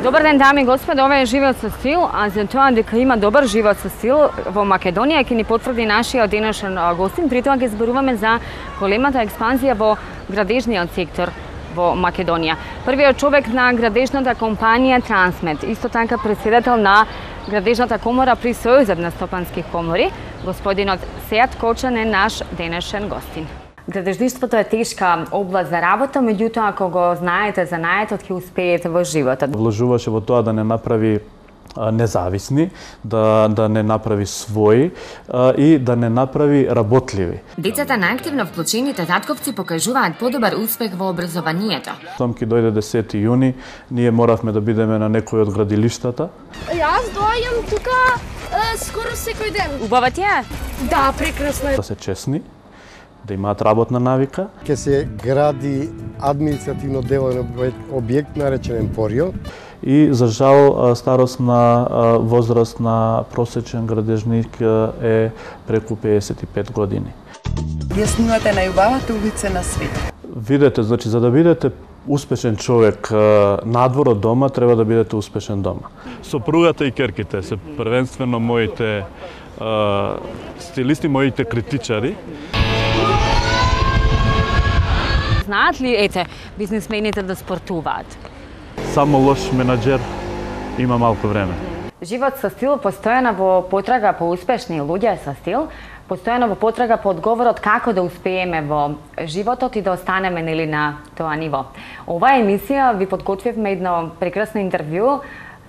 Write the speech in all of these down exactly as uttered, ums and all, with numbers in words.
Добар ден, дами и господа, ова е Живот со стил, а за тоа дека има добар живот со стил во Македонија ќе ни потврди нашиот денешен гостин. При тоа ќе зборуваме за големата експанзија во градежниот сектор во Македонија. Првиот човек на градежната компанија Трансмет, исто така претседател на градежната комора при Сојузот на стопански комори, господинот Сејат Кочан е наш денешен гостин. Градежништвото е тешка област за работа, меѓутоа ако го знаете занаетот ќе успеете во животот. Вложуваше во тоа да не направи независни, да, да не направи своји а, и да не направи работливи. Децата најактивно вклучените татковци покажуваат подобар успех во образованието. Том ки дојде десети јуни, ние моравме да бидеме на некој од градилиштата. Јас доаѓам тука е, скоро секој ден. Убава ти е? Да, прекрасно е. Да се честни, да имаат работна навика. Ке се гради административно деловен објект наречен Емпорио. И за жал старосна возраст на просечен градежник е преку педесет и пет години. Вие снимате најубавата улица на светот. Видете, значи за да бидете успешен човек надвор од дома, треба да бидете успешен дома. Сопругата и керките се првенствено моите а, стилисти, моите критичари. Знаат ли, ете, бизнисмените да спортуваат? Само лош менаџер има малку време. Живот со стил постојано во потрага по успешни луѓе со стил, постојано во потрага по одговорот како да успееме во животот и да останеме нели на тоа ниво. Оваа емисија ви подготвивме едно прекрасно интервју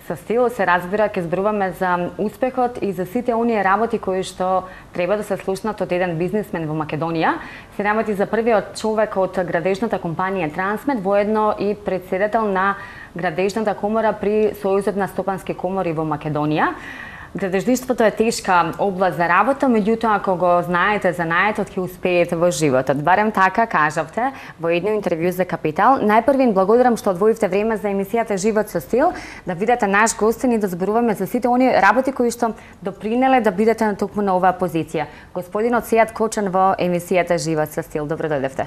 со стил, се разбира ќе зборуваме за успехот и за сите оние работи кои што треба да се слушнат од еден бизнисмен во Македонија. Се работи за првиот човек од градежната компанија Трансмет, воедно и претседател на градежната комора при Сојузот на стопански комори во Македонија. Градежништвото е тешка област за работа, меѓутоа ако го знаете занаетот ќе успеете во животот. Барем така кажавте во едно интервју за Капитал. Најпрви благодарам што одвоивте време за емисијата Живот со стил, да видите наш гостин и да зборуваме за сите оние работи кои што допринеле да бидете на токму на оваа позиција. Господинот Сејат Кочан во емисијата Живот со стил. Добро дојдовте.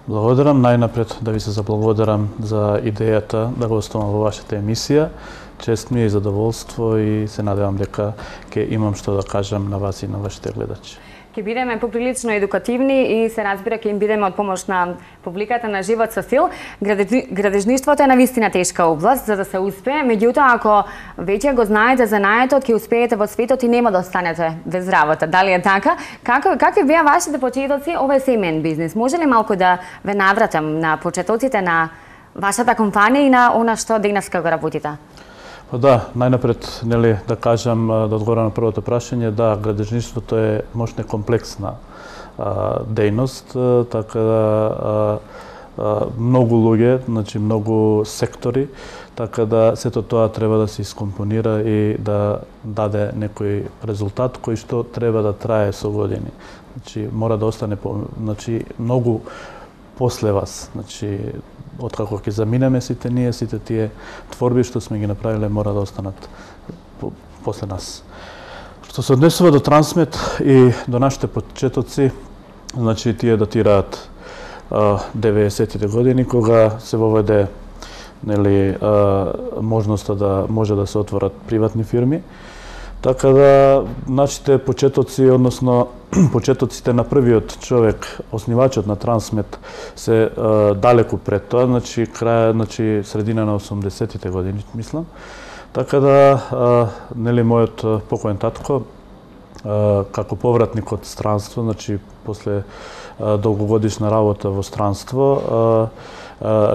Благодарам, најнапред да ви се заблагодарам за идејата да гостувам во вашата емисија. Чест ми е и задоволство и се надевам дека ќе имам што да кажам на вас и на вашите гледачи. Ќе бидеме поприлично едукативни и се разбира ќе им бидеме од помош на публиката на Живот со стил. Градежништвото е навистина тешка област за да се успее, меѓутоа ако веќе го знаете занаетот, ќе успеете во светот и нема да останете без работа. Дали е така? Како какви беа вашите почетоци? Ова е семеен бизнис. Може ли малку да ве навратам на почетоците на вашата компанија и на она што денеска го работите? Па да, најнапред нели да кажам, да одговорам на првото прашање, да, градежништвото е можна комплексна а, дејност, а, така да а, а, многу луѓе, значи многу сектори, така да сето тоа треба да се искомпонира и да даде некој резултат кој што треба да трае со години. Значи мора да остане по, значи многу после вас, значи откако ќе заминеме сите ние, сите тие творби што сме ги направиле мора да останат по, после нас. Што се однесува до Трансмет и до нашите почетоци, значи тие датираат деветдесетите години кога се воведе нели можноста да може да се отворат приватни фирми. Така да нашите почетоци, односно почетоците на првиот човек, основачот на Трансмет, се е, далеку пред тоа, значи крај, значи средина на осумдесетите години, мислам. Така да, е, нели мојот покоен татко, е, како повратник од странство, значи после е, долгогодишна работа во странство, е,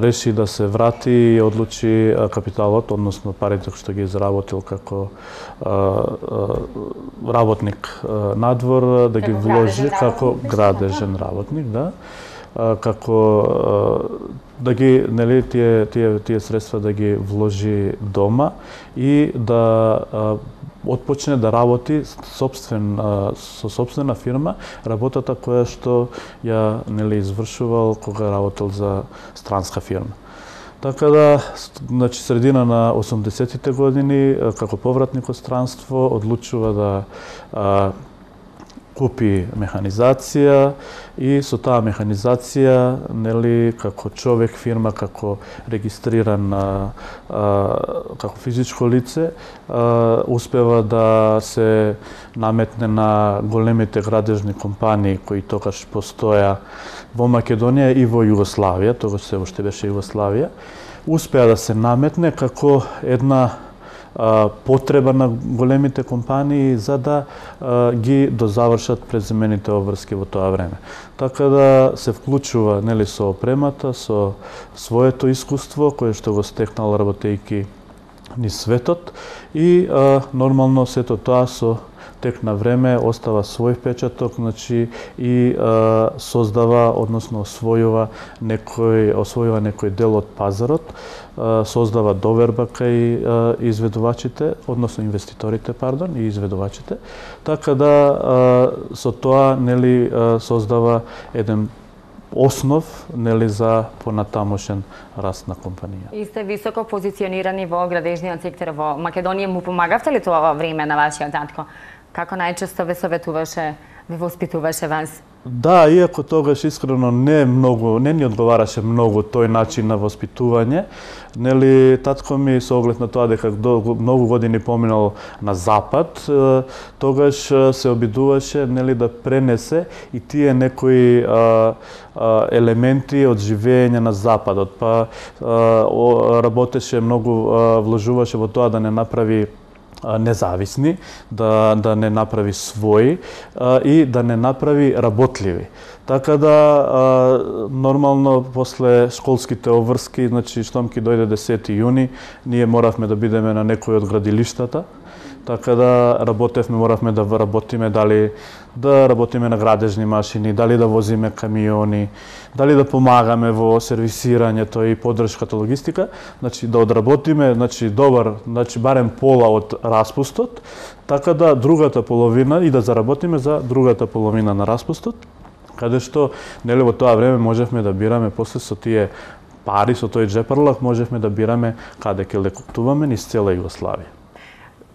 реши да се врати и одлучи капиталот, односно парите што ги заработил како работник надвор, да ги вложи како градежен работник, да. како да ги, нели, тие, тие, тие средства да ги вложи дома и да отпочне да работи собствен, со собствена фирма, работата која што ја, нели, извршувал кога работел за странска фирма. Така да, значи, средина на осумдесеттите години, како повратник од странство, одлучува да а, купи механизација и со таа механизација, нели, како човек, фирма, како регистриран а, а, како физичко лице, а, успева да се наметне на големите градежни компании кои тогаш постоја во Македонија и во Југославија, тогаш се уште беше Југославија, успеа да се наметне како една а, потреба на големите компании за да а, ги дозавршат преземените обврски во тоа време. Така да се вклучува, нели, со опремата, со своето искуство кое што го стекнал работејќи низ светот и а, нормално сето тоа со тек на време остава свој впечаток, значи и а, создава, односно освојува некој освојува некој дел од пазарот, а, создава доверба кај а, изведувачите, односно инвеститорите, пардон, и изведувачите. Така да а, со тоа, нели, а, создава еден основ, нели, за понатамошен раст на компанија. И сте високо позиционирани во градежниот сектор во Македонија. Му помагавте ли тоа во време на вашиот татко? Како најчесто ве советуваше, ве воспитуваше вас? Да, иако тогаш искрено не многу, не ни одговараше многу тој начин на воспитување, нели, татко ми со оглед на тоа дека многу години поминал на запад, тогаш се обидуваше, нели, да пренесе и тие некои а, а, елементи од живење на западот, па а, работеше многу, а, вложуваше во тоа да не направи независни, да, да не направи своји а, и да не направи работливи. Така да, а, нормално, после школските обврски, значи, штом ки дојде десети јуни, ние моравме да бидеме на некој од градилиштата, така да работевме, моравме да работиме, дали да работиме на градежни машини, дали да возиме камиони, дали да помагаме во сервисирањето и поддршката логистика, значи да одработиме, значи добар, значи барем пола од распустот, така да другата половина и да заработиме за другата половина на распустот, каде што, нели, во тоа време можевме да бираме после со тие пари, со тој джепарлак, можевме да бираме каде ќе лекотуваме низ цела Југославија.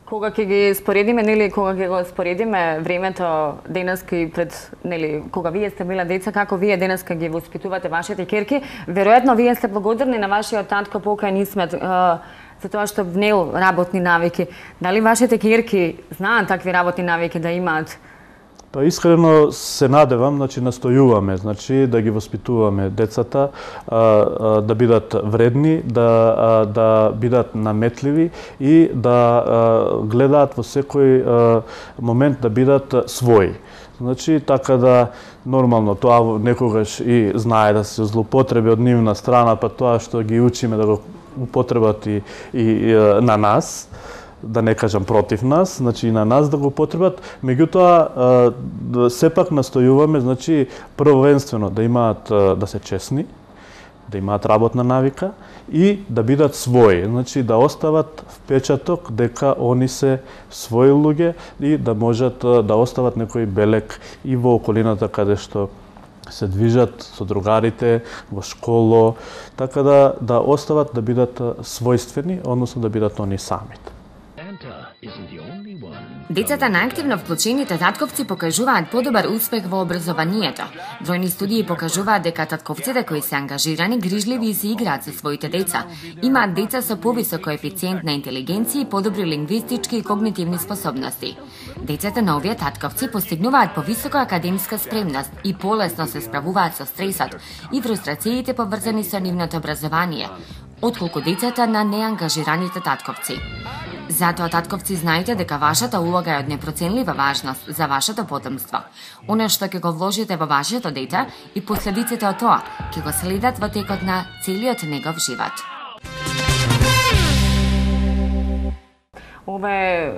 Кога ќе ги споредиме, нели, кога ќе го споредиме времето денеска и пред, нели, кога вие сте била деца, како вие денеска ги воспитувате вашите ќерки, веројатно вие сте благодарни на вашиот татко покај Исмет за тоа што внел работни навики. Дали вашите ќерки знаат такви работни навики да имаат? Па искрено се надевам, значи настојуваме, значи да ги воспитуваме децата, а, а, да бидат вредни, да а, да бидат наметливи и да а, гледаат во секој а, момент да бидат своји. Значи, така да нормално тоа некогаш и знае да се злоупотреби од нивна страна, па тоа што ги учиме да го употребат и, и, и на нас, да не кажам против нас, значи и на нас да го потребат, меѓутоа сепак настојуваме, значи првенствено да имаат, да се честни, да имаат работна навика и да бидат своји, значи да остават впечаток дека они се своји луѓе и да можат да остават некој белег и во околината каде што се движат со другарите, во школо, така да да остават да бидат својствени, односно да бидат они самите. Децата на активно вклучените татковци покажуваат подобар успех во образованието. Бројни студии покажуваат дека татковците кои се ангажирани, грижливи и се играат со своите деца, имаат деца со повисок коефициент на интелигенција и подобри лингвистички и когнитивни способности. Децата на овие татковци постигнуваат повисока академска спремност и полесно се справуваат со стресот и фрустрациите поврзани со нивното образование, отколку децата на неангажираните татковци. Затоа, татковци, знаете дека вашата улога е од непроценлива важност за вашето потомство. Оно што ќе го вложите во вашето дете и последиците од тоа ќе го следат во текот на целиот негов живот. Ова е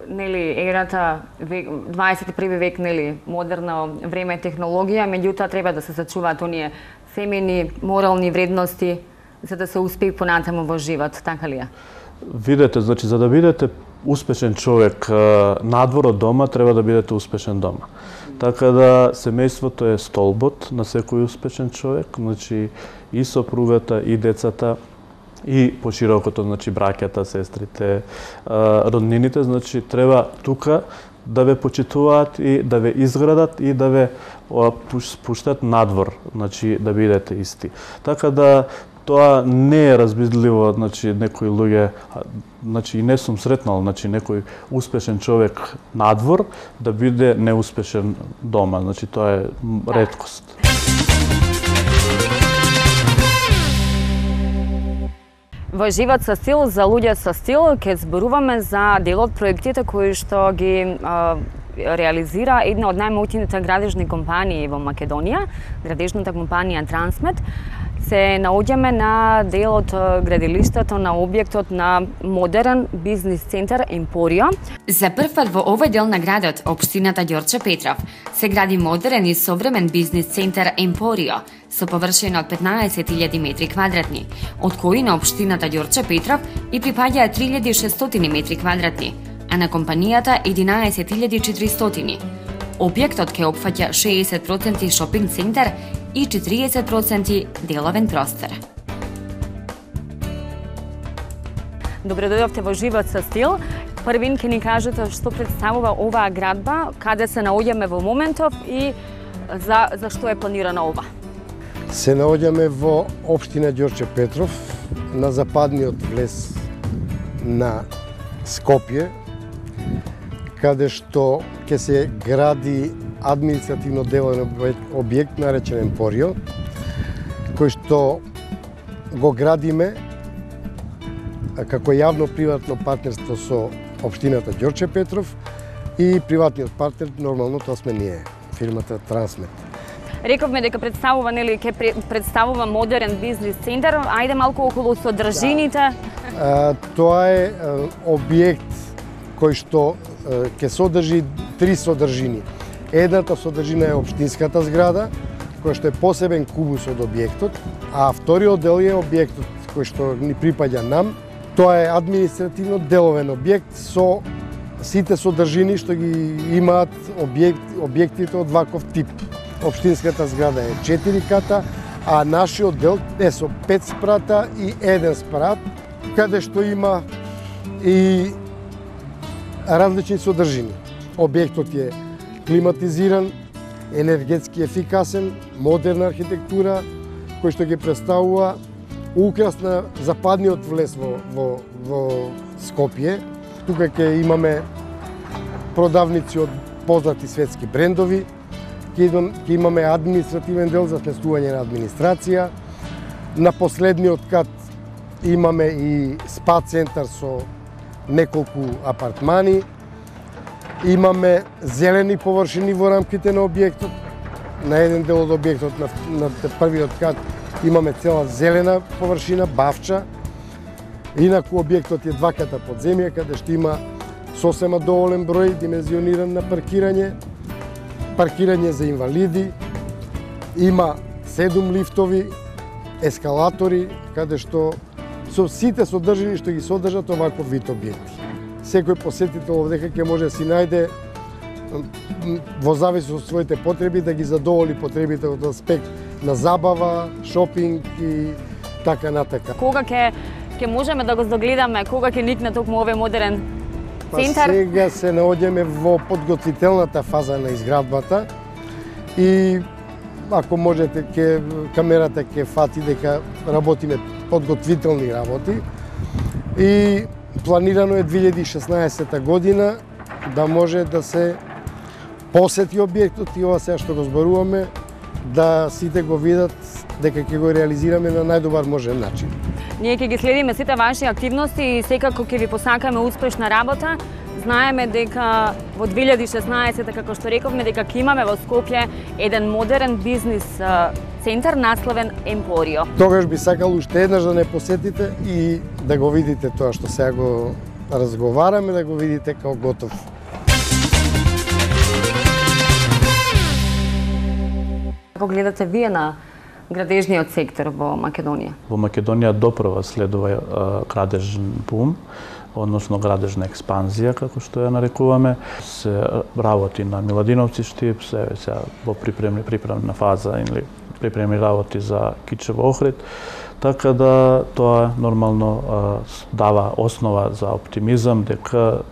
нели ерата дваесет и први век, нели модерно време, технологија, меѓутоа треба да се сачуваат оние семени морални вредности за да се успее понатаму во живот, така ли е? Видете, значи за да бидете успешен човек надвор од дома, треба да бидете успешен дома. Така да семејството е столбот на секој успешен човек, значи и сопругата, и децата, и поширокото, значи браќата, сестрите, роднините, значи треба тука да ве почитуваат и да ве изградат и да ве пуштат надвор, значи да бидете исти. Така да тоа не е разбидливо, значи некои луѓе, значи и не сум сретнал, значи некој успешен човек надвор да биде неуспешен дома, значи тоа е реткост. Во живот со стил, за луѓе со стил, ќе зборуваме за дел од проектите кои што ги а, реализира една од најмоќните градежни компании во Македонија, градежната компанија Трансмет. Се наоѓаме на дел од градилиштето на објектот на модерен бизнис центар Емпорио. За прв пат во овој дел на градот, општината Ѓорче Петров, се гради модерен и современ бизнис центар Емпорио со површина од петнаесет илјади метри квадратни, од кои на општината Ѓорче Петров и припаѓаат три илјади и шестстотини метри квадратни, а на компанијата единаесет илјади и четиристотини. Објектот ќе опфаќа шеесет проценти шопинг центар и четириесет проценти деловен простор. Добре дојдовте во Живот со стил. Првин ќе ни кажете што представува оваа градба, каде се наоѓаме во моментов и за, за што е планирана ова? Се наоѓаме во општина Ѓорче Петров, на западниот влез на Скопје, каде што ќе се гради административно деловен објект наречен Емпорио, кој што го градиме како јавно-приватно партнерство со општината Ѓорче Петров и приватниот партнер, нормално тоа сме ние, фирмата Трансмет. Рековме дека представува, нели, ќе представува модерен бизнис центар. Ајде малку околу содржините. Да. Тоа е објект кој што ќе содржи три содржини. Едната содржина е општинската зграда, која што е посебен кубус од објектот, а вториот дел е објектот кој што ни припаѓа нам. Тоа е административно деловен објект со сите содржини што ги имаат објект, објектите од ваков тип. Општинската зграда е четири ката, а нашиот дел е со пет спрата и еден спрат, каде што има и различни содржини. Објектот е климатизиран, енергетски ефикасен, модерна архитектура, кој што ги представува украс на западниот влез во, во, во Скопје. Тука ќе имаме продавници од познати светски брендови, ќе имаме административен дел за сместување на администрација. На последниот кат имаме и спа центар со неколку апартмани. Имаме зелени површини во рамките на објектот. На еден дел од објектот, на, на првиот кат, имаме цела зелена површина, бавча. Инаку објектот е два ката подземја, каде што има сосема доволен број димензиониран на паркирање, паркирање за инвалиди, има седум лифтови, ескалатори, каде што со сите содржини што ги содржат оваков вид објекти. Секој посетител овдека ќе може да си најде во зависност од своите потреби да ги задоволи потребите од аспект на забава, шопинг и така натака. Кога ќе ќе можеме да го загледаме, кога ќе никне токму овој модерен центар? Па сега се наоѓаме во подготвителната фаза на изградбата и ако можете ке камерата ќе фати дека работиме подготвителни работи и планирано е две илјади и шеснаесета година да може да се посети објектот и ова сега што го зборуваме да сите го видат дека ќе го реализираме на најдобар можен начин. Ние ќе ги следиме сите ваши активности и секако ќе ви посакаме успешна работа. Знаеме дека во две илјади и шеснаесета, како што рековме, дека ќе имаме во Скопје еден модерен бизнис центар насловен Емпорио. Тогаш би сакал уште еднаш да не посетите и да го видите тоа што сега го разговараме да го видите како готов. Како гледате вие на градежниот сектор во Македонија? Во Македонија допрва следува градежен бум, односно градежна експанзија, како што ја нарекуваме. Се работи на Миладиновци штип, се сега во припремни припремна фаза или припремни работи за Кичево Охрид, така да тоа нормално дава основа за оптимизам дека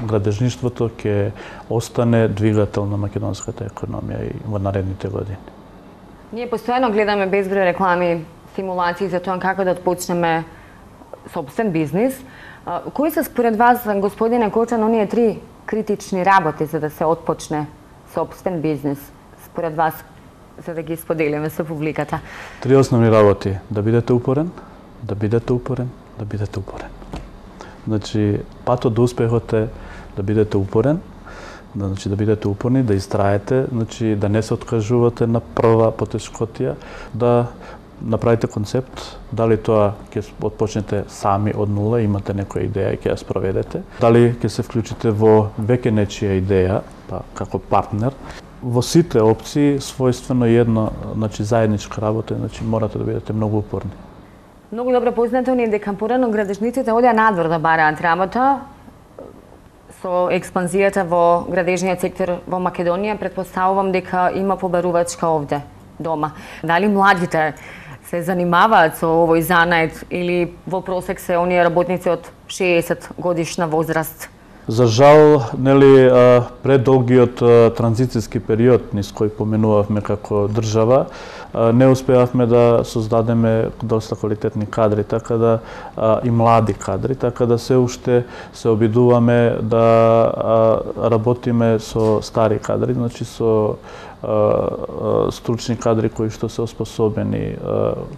градежништвото ќе остане двигател на македонската економија и во наредните години. Ние постојано гледаме безброј реклами, стимулации за тоа како да отпочнеме собствен бизнис. Кои се според вас, господине Кочан, оние три критични работи за да се отпочне собствен бизнис? Според вас, за да ги споделиме со публиката. Три основни работи: да бидете упорен, да бидете упорен, да бидете упорен. Значи, патот до успехот е да бидете упорен, да, значи, да бидете упорни, да истраете, значи, да не се откажувате на прва потешкотија, да направите концепт, дали тоа ќе отпочнете сами од нула, имате некоја идеја и ќе ја спроведете, дали ќе се вклучите во веќе нечија идеја, па како партнер. Во сите опции својствено едно, значи заедничка работа, значи морате да бидете многу упорни. Многу добро познато ни е дека порано градежниците одеа надвор да бараат работа. Со експанзијата во градежниот сектор во Македонија, претпоставувам дека има побарувачка овде дома. Дали младите се занимаваат со овој занает или во просек се оние работници од шеесет годишна возраст? За жал, нели, предолгиот транзицијски период низ кој поменувавме како држава, не успеавме да создадеме доста квалитетни кадри, така да и млади кадри, така да се уште се обидуваме да работиме со стари кадри, значи со стручни кадри кои што се оспособени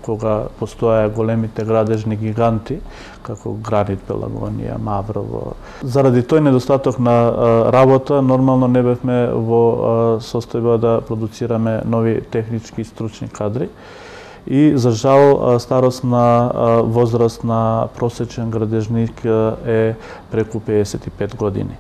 кога постоја големите градежни гиганти како Гранит, Пелагонија, Маврово. Заради тој недостаток на работа, нормално не бевме во состојба да продуцираме нови технички и стручни кадри. И за жал старосна возраст на просечен градежник е преку педесет и пет години.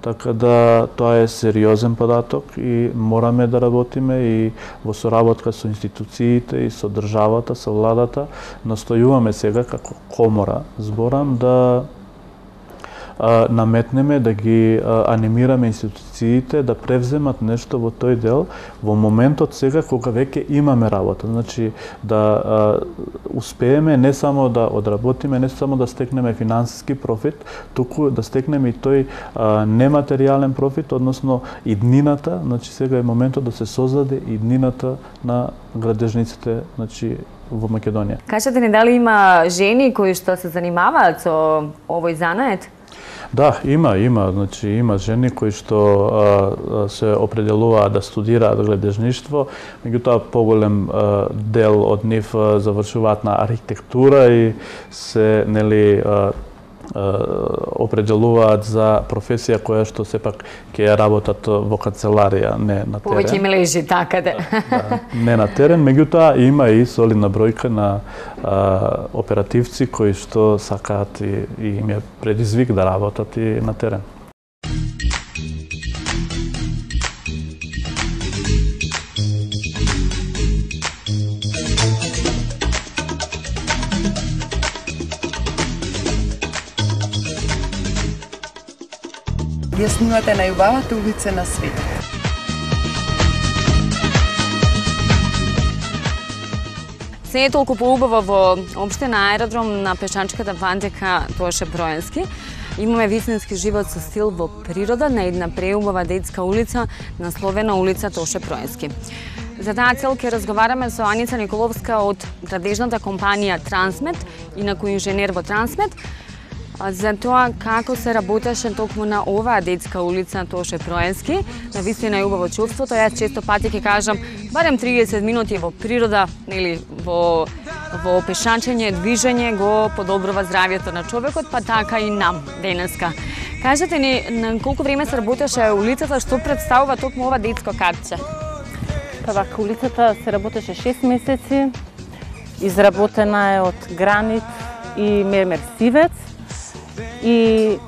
Така да тоа е сериозен податок и мораме да работиме и во соработка со институциите и со државата, со владата. Настојуваме сега како комора, зборам, да а, наметнеме, да ги а, анимираме институциите да превземат нешто во тој дел во моментот сега кога веќе имаме работа. Значи да а, успееме не само да одработиме, не само да стекнеме финансиски профит, туку да стекнеме и тој а, нематеријален профит, односно иднината. Значи сега е моментот да се создаде иднината на градежниците, значи во Македонија. Кажете ни, дали има жени кои што се занимаваат со овој занает? Да, има, има, значи има жени кои што а, се определуваат да студираат градежништво, меѓутоа поголем а, дел од нив а, завршуваат на архитектура и се, нели, а, определуваат за професија која што сепак ќе ја работат во канцеларија, не на терен. Повеќе им лежи така да. Да, не на терен, меѓутоа има и солидна бројка на а, оперативци кои што сакаат и, и им е предизвик да работат и на терен. Ја снимате најубавата улица на светот. се е толку поубаво во општина Аеродром на пешачката вандека Тоше Проенски. Имаме вистински живот со стил во природа на една преубава детска улица насловена улица Тоше Проенски. За таа цел ќе разговараме со Аница Николовска од градежната компанија Трансмет, инаку инженер во Трансмет, за тоа како се работеше токму на оваа детска улица Тоше Проенски. На вистина е убаво чувството. Јас често пати ќе кажам барем триесет минути во природа или во во пешачење, движење го подобрува здравјето на човекот, па така и нам денеска. Кажете ни на колку време се работеше улицата, што представува токму ова детско катче? Па вака улицата се работеше шест месеци. Изработена е од гранит и мермер сивец. И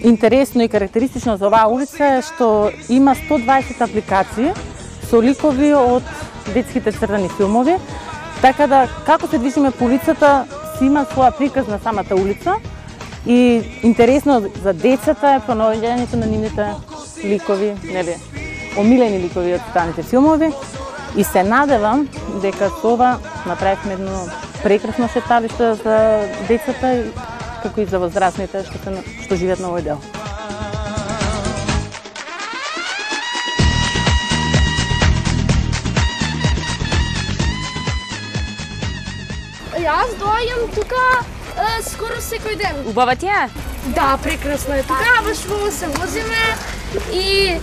интересно и карактеристично за оваа улица е што има сто дваесет апликации со ликови од детските цртани филмови, така да како се движиме по улицата си има своја приказ на самата улица и интересно за децата е понаоѓањето на нивните ликови, нели, омилени ликови од цртаните филмови и се надевам дека со ова направивме едно прекрасно шеталиште за децата како и за возрастните што, се, што живеат на овој дел. Јас доаѓам тука е, скоро секој ден. Убава ти е? Да, прекрасно е тука, баш во се возиме и е,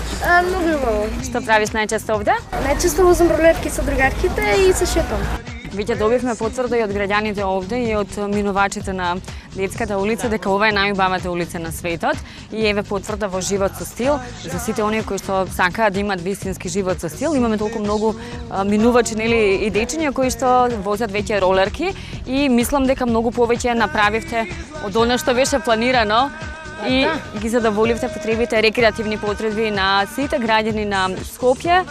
многу е убаво. Што правиш најчесто овде? Најчесто возам ролетки со другарките и се шетам. Веќе добивме потврда и од граѓаните овде и од минувачите на детската улица дека ова е најубавата улица на светот и еве потврда во живот со стил за сите оние кои што сакаат да имаат вистински живот со стил. Имаме толку многу а, минувачи, нели, и дечиња кои што возат веќе ролерки и мислам дека многу повеќе направивте од она што беше планирано и ги задоволивте потребите, рекреативни потреби на сите граѓани на Скопје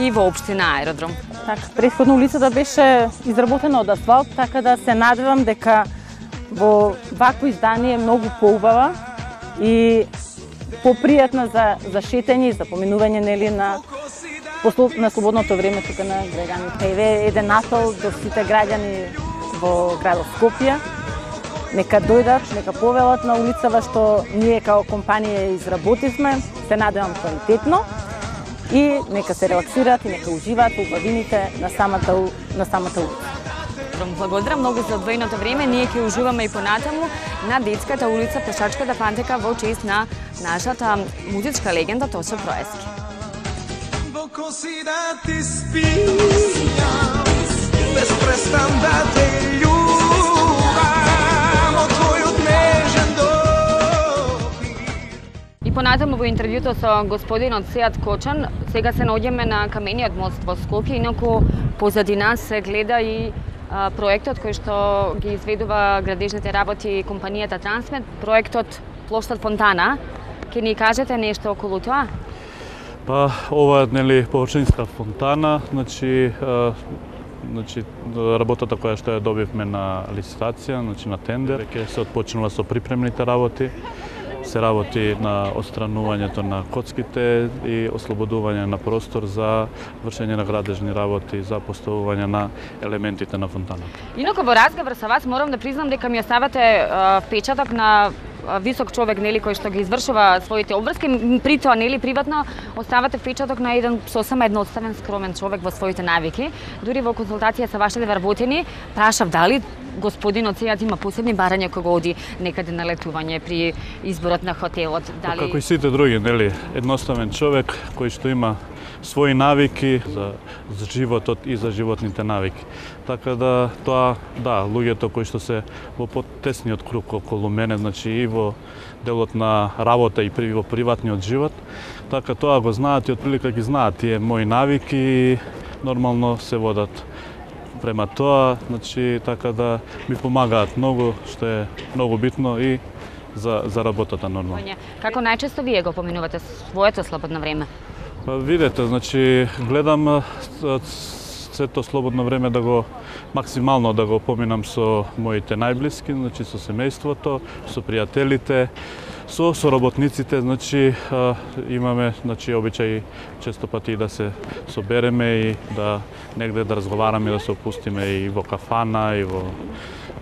и во општина Аеродром. Така, претходно улицата беше изработена од асфалт, така да се надевам дека во вакво издание е многу поубава и попријатна за, за шетање и за поминување, нели, на, на слободното време тука на граѓаните. Еве еден апел до сите граѓани во градот Скопје. Нека дојдат, нека повелат на улицава што ние као компанија изработивме, се надевам квалитетно. И нека се релаксираат и нека уживаат во убавините на самата, на самата улица. Благодарам многу за одвоеното време. Ние ќе уживаме и понатаму на детската улица Пешачката пантека во чест на нашата музичка легенда Тошо Проески. И понатаму во интервјуто со господинот Сеат Кочан, сега се наоѓаме на камениот мост во Скопје, инаку позади нас се гледа и а, проектот кој што ги изведува градежните работи компанијата Трансмет, проектот Плоштад Фонтана. Ке ни кажете нешто околу тоа? Па ова е, нели, површинска фонтана, значи а, значи работата која што ја добивме на licitaција, значи на тендер, ќе се отпочнува со припремните работи. Се работи на отстранувањето на коцките и ослободување на простор за вршење на градежни работи, за поставување на елементите на фонтаната. Инаку во разговор со вас морам да признам дека ми оставате а, впечаток на висок човек, нели, кој што ги извршува своите обврски, при тоа, нели, приватно оставате впечаток на еден сосема едноставен, скромен човек во своите навики. Дури во консултација со вашите вработени, прашав дали господинот Сеат има посебни барања кога оди некаде на летување при изборот на хотелот, дали... Како и сите други, нели, едноставен човек кој што има своји навики за, за животот и за животните навики. Така да тоа, да, луѓето кои што се во потесниот круг околу мене, значи и во делот на работа и при, во приватниот живот, така тоа го знаат и отприлика ги знаат тие мои навики и нормално се водат према тоа, значи така да ми помагаат многу, што е многу битно и за, за работата нормално. Како најчесто вие го поминувате своето слободно време? Па видете, значи гледам сето слободно време да го максимално да го поминам со моите најблиски, значи со семејството, со пријателите, со соработниците, значи а, имаме, значи обичај често пати да се собереме и да негде да разговараме, да се опустиме и во кафана и во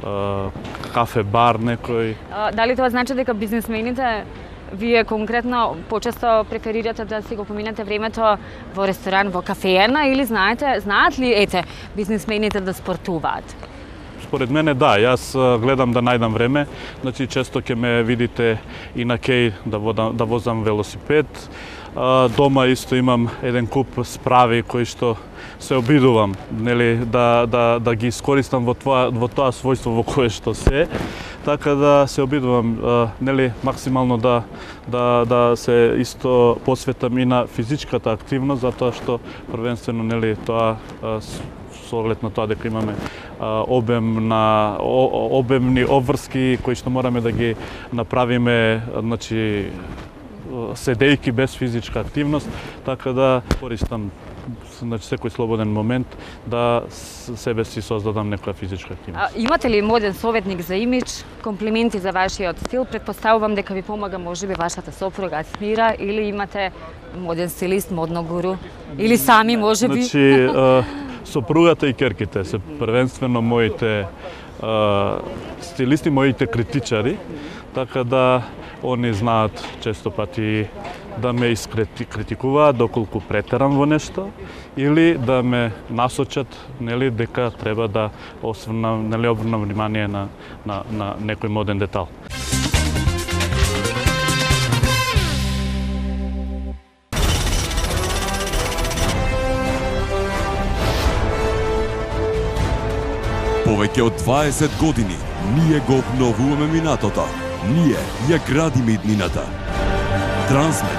а, кафе бар некој. А, дали тоа значи дека бизнисмените вие конкретно почесто преферирате да си го поминете времето во ресторан, во кафеена или знаете, знаат ли ете бизнисмените да спортуваат? Според мене да, јас гледам да најдам време, значи често ќе ме видите и на кеј да, водам, да возам велосипед. Дома исто имам еден куп справи кои што се обидувам, нели, да, да, да ги искористам во тоа, во тоа својство во кое што се. Така да се обидувам, нели, максимално да, да, да се исто посветам и на физичката активност, затоа што првенствено, нели, тоа со оглед на тоа дека имаме обем на обемни обврски кои што мораме да ги направиме, значи седејки без физичка активност, така да користам значи секој слободен момент да себе си создадам некоја физичка активност. А, имате ли моден советник за имидж, комплименти за вашиот стил? Предпоставувам дека ви помага можеби вашата сопруга Смира, или имате моден стилист, модно гуру, или сами можеби? Значи сопругата и керките се првенствено моите стилисти, моите критичари, така да они знаат често пати да ме искритикуваат доколку претерам во нешто или да ме насочат, нели, дека треба да осврнам, нели, обрнам внимание на, на, на некој моден детал. Повеќе од дваесет години ние го обновуваме минатото. Ние ја градиме иднината. Трансмет.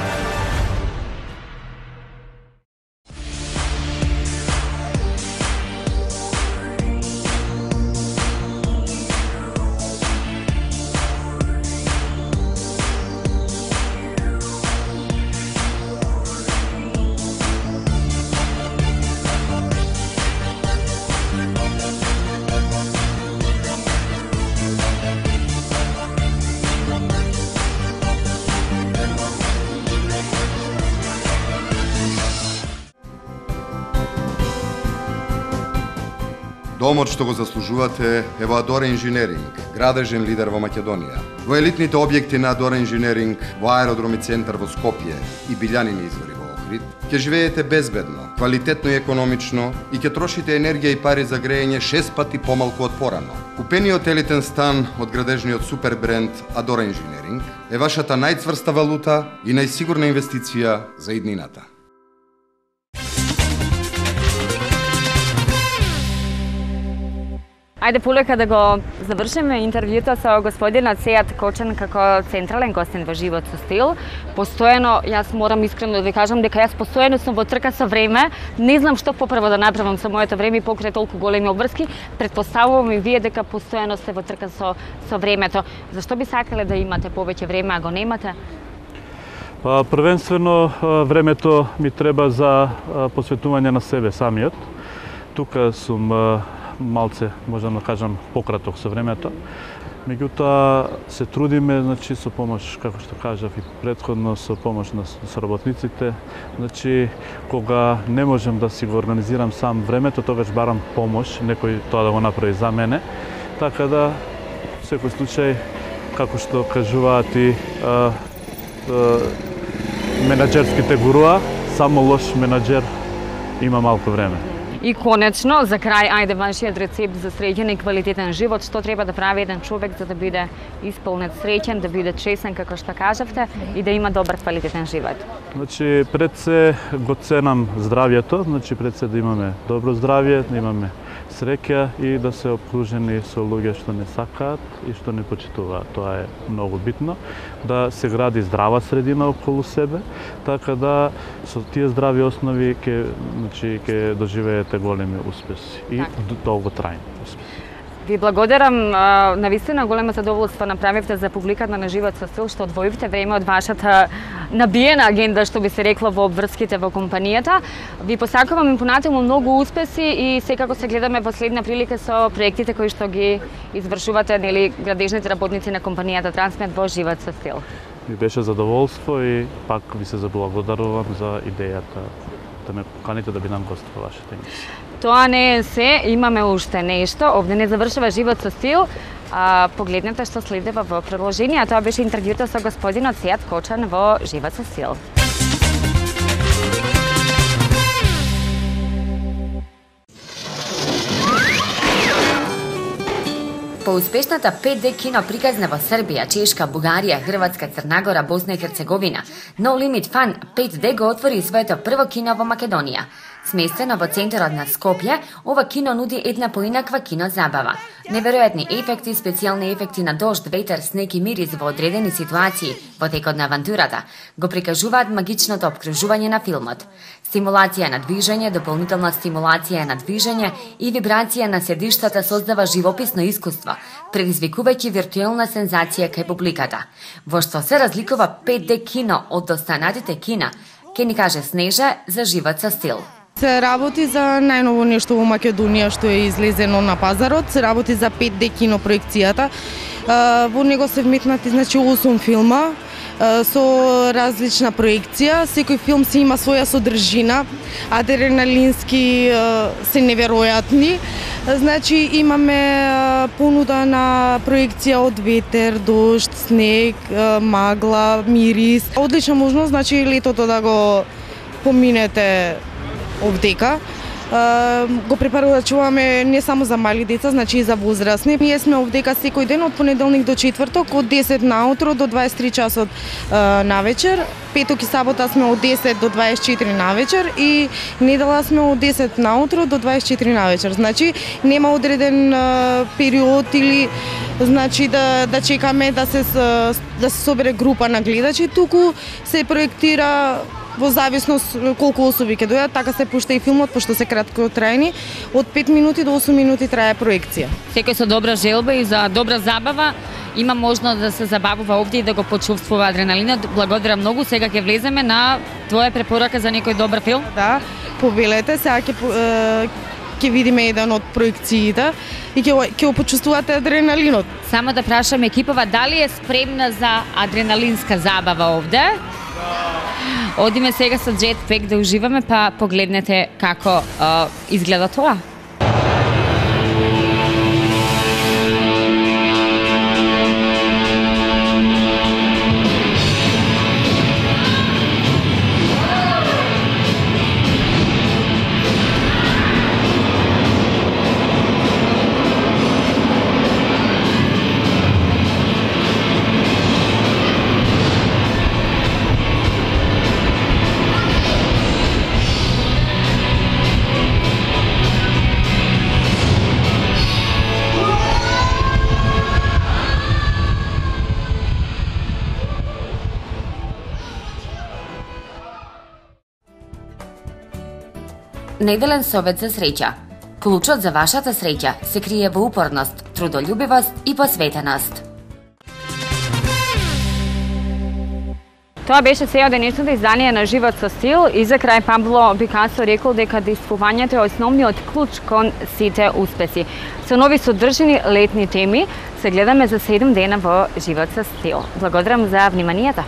Домот што го заслужувате е во Адора Инженеринг, градежен лидер во Македонија. Во елитните објекти на Адора Инженеринг, во аеродроми центар во Скопје и Билјанини извори во Охрид, ќе живеете безбедно, квалитетно и економично и ќе трошите енергија и пари за грејење шест пати помалку од порано. Купениот елитен стан од градежниот супер бренд Адора Инженеринг е вашата најцврста валута и најсигурна инвестиција за иднината. Ајде полека да го завршиме интервјуто со господинот Сејат Кочан како централен гостин во Живот со стил. Постојано, јас морам искрено да ви кажам дека јас постојано сум во трка со време. Не знам што поправо да направам со моето време покрај толку големи обврски. Предпоставувам и вие дека постојано сте во трка со со времето. Зашто би сакале да имате повеќе време, а го немате? Па првенствено времето ми треба за посветување на себе самиот. Тука сум малце, можам да кажам, пократок со времето. Меѓутоа се трудиме, значи, со помош, како што кажав и претходно, со помош на соработниците. Значи, кога не можам да си го организирам сам времето, тогаш барам помош, некој тоа да го направи за мене. Така да, во секој случај, како што кажуваат и а, а, менаџерските гуруа, само лош менаџер има малку време. И конечно, за крај, ајде вашиот рецепт за среќен и квалитетен живот, што треба да прави еден човек за да биде исполнет среќен, да биде честен, како што кажавте, и да има добар квалитетен живот? Значи, пред се го ценам здравјето, значи пред се да имаме добро здравје, да имаме среќа и да се обкружени со луѓе што не сакаат и што не почитуваат. Тоа е многу битно. Да се гради здрава средина околу себе, така да со тие здрави основи ќе, значи, ќе доживеете големи успеси и долготрајни успеси. Ви благодарам, навистина големо задоволство направивте за публиката на Живот со стил, што одвоивте време од вашата набиена агенда, што би се рекло, во обврските во компанијата. Ви посакувам и понатаму многу успеси и секако се гледаме во следна прилика со проектите кои што ги извршувате, нели, градежните работници на компанијата Трансмет во Живот со стил. Ми беше задоволство и пак ви се заблагодарувам за идејата да ме поканите да бидам гост во вашата емисија. Тоа не е се, имаме уште нешто. Овде не завршува Живот со стил. А, погледнете што следува во продолжение. Тоа беше интервјуто со господинот Сејат Кочан во Живот со стил. По успешната пет де кино приказна во Србија, Чешка, Бугарија, Хрватска, Црнагора, Босна и Херцеговина, No Limit Fun пет де го отвори своето прво кино во Македонија. Сместено во центарот на Скопје, ова кино нуди една поинаква кино забава. Неверојатни ефекти, специјални ефекти на дожд, ветер, снег и мирис во одредени ситуации во текот на авантурата го прикажуваат магичното опкружување на филмот. Стимулација на движење, дополнителна стимулација на движење и вибрација на седиштата создава живописно искуство, предизвикувајќи виртуелна сензација кај публиката. Во што се разликува пет де кино од останатите кина, ке ни каже Снежа за живот со стил. Се работи за најново нешто во Македонија што е излезено на пазарот, се работи за пет де кино проекцијата. Во него се вметнати значи осум филма со различна проекција. Секој филм си има своја содржина, адреналински се неверојатни. Значи имаме понуда на проекција од ветер, дожд, снег, магла, мирис. Одлична можност, значи летото да го поминете овдека. Го препорачуваме не само за мали деца, значи и за возрастни. Ние сме овдека секој ден од понеделник до четврток од десет наутро до дваесет и три часот навечер. Петок и сабота сме од десет до дваесет и четири навечер и недела сме од десет наутро до дваесет и четири навечер. Значи нема одреден период или значи да да чекаме да се да се собере група на гледачи, туку се проектира во зависност колку особи ќе дојдат, така се пушта и филмот, пошто се краткотрајни, од пет минути до осум минути трае проекција. Секој со добра желба и за добра забава има можност да се забавува овде и да го почувствува адреналинот. Благодарам многу. Сега ќе влеземе на твоја препорака за некој добар филм. Да, повелете, сега ќе ќе видиме еден од проекциите и ќе ќе почувствувате адреналинот. Само да прашам екипава дали е спремна за адреналинска забава овде? Одиме сега со Jetpack да уживаме, па погледнете како а, изгледа тоа. Неделен совет за среќа. Клучот за вашата среќа се крие во упорност, трудолюбивост и посветеност. Тоа беше се од денешното издание на Живот со стил и за крај Пабло Пикасо рекол дека действувањето е основниот клуч кон сите успеси. Со нови содржини летни теми се гледаме за седум дена во Живот со стил. Благодарам за вниманието.